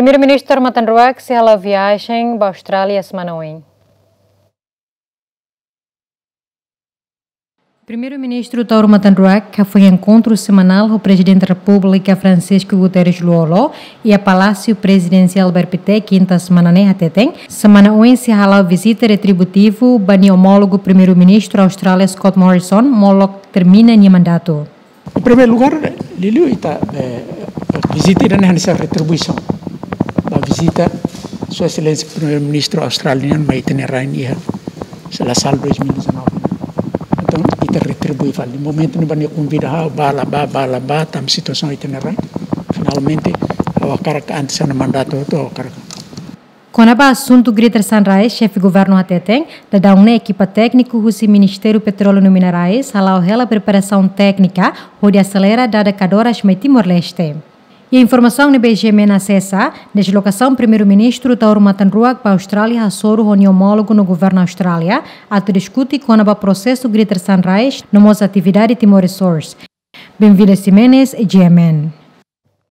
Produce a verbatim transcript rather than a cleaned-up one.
Primeiru-Ministru Taur Matan Ruak sei hala'o viajen ba Austrália semana oin. Primeiru-Ministru Taur Matan Ruak hafoin enkontru semanál ho Prezidente Repúblika Francisco Guterres Lú-Olo iha Palásiu Prezidensiál Bairu Pité, kinta semana ne'e, hateten semana oin sei hala'o vizita retributivu ba nia omólogu Primeiru-Ministru Austrália Scott Morrison molok termina nia mandatu. Em primeiro lugar, liuliu ita, eh, vizita ida-ne'e hanesan retribuisaun ba vizita Sua Exelénsia Primeiru-Ministru Austrália nian mai ita-nia rain iha, se la sala, dois mil e dezanove. Entaun, ita retribui fali. Momentu ne'ebá nia konvida ha'u, bá la bá, bá la bá, tanba situasaun ita-nia rain. Finalmente, ha'u hakarak, antes ha'u-nia mandatu hotu, ha'u hakarak. Kona-ba asuntu Greater Sunrise, Xefe Governu hateten, daudaun ne'e ekipa tékniku husi Ministériu Petróleu no Minerais hala'o hela preparasaun téknika hodi aselera dada kadoras mai Timor-Leste. Iha informasaun ne'ebé GMN asesa, deslokasaun Primeiru-Ministru Taur Matan Ruak ba Austrália hasoru ho nia omólogu no Governu Austrália atu diskute kona-ba prosesu Greater Sunrise no mós atividade Timor Resource. Benvida Ximenes, GMN.